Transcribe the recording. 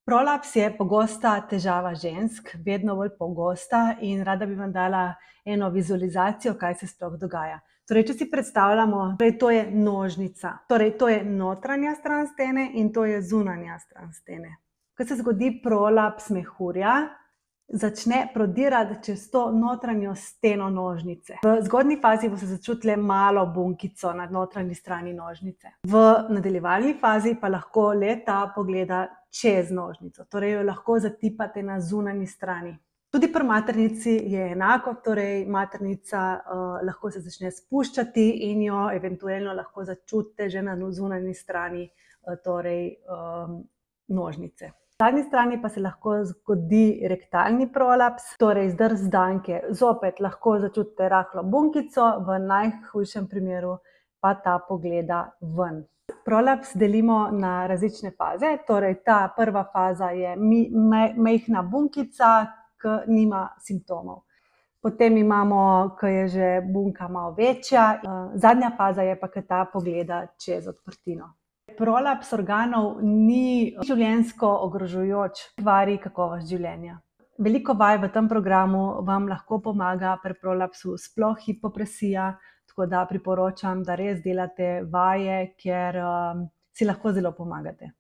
Prolaps je pogosta težava žensk, vedno bolj pogosta in rada bi vam dala eno vizualizacijo, kaj se sploh dogaja. Torej, če si predstavljamo, to je nožnica. Torej, to je notranja stran stene in to je zunanja stran stene. Ko se zgodi prolaps mehurja, začne prodirati čez to notranjo steno nožnice. V zgodnji fazi boste začutili malo bunkico na notranji strani nožnice. V nadaljevalni fazi pa lahko le-ta pogleda čez nožnico, torej jo lahko zatipate na zunanji strani. Tudi pri maternici je enako, torej maternica lahko se začne spuščati in jo eventualno lahko začutite že na zunanji strani nožnice. Na zadnji strani pa se lahko zgodi rektalni prolaps, torej zdrs danke. Zopet lahko začutite rahlo bunkico, v najhujšem primeru pa ta pogleda ven. Prolaps delimo na različne faze, torej ta prva faza je majhna bunkica, ki nima simptomov. Potem imamo, ko je že bunka malo večja, zadnja faza je pa, ko ta pogleda čez odprtino. Prolaps organov ni življenjsko ogrožajoč, kvari kakovost življenja. Veliko vaj v tem programu vam lahko pomaga pri prolapsu, sploh hipopresija, tako da priporočam, da res delate vaje, ker si lahko zelo pomagate.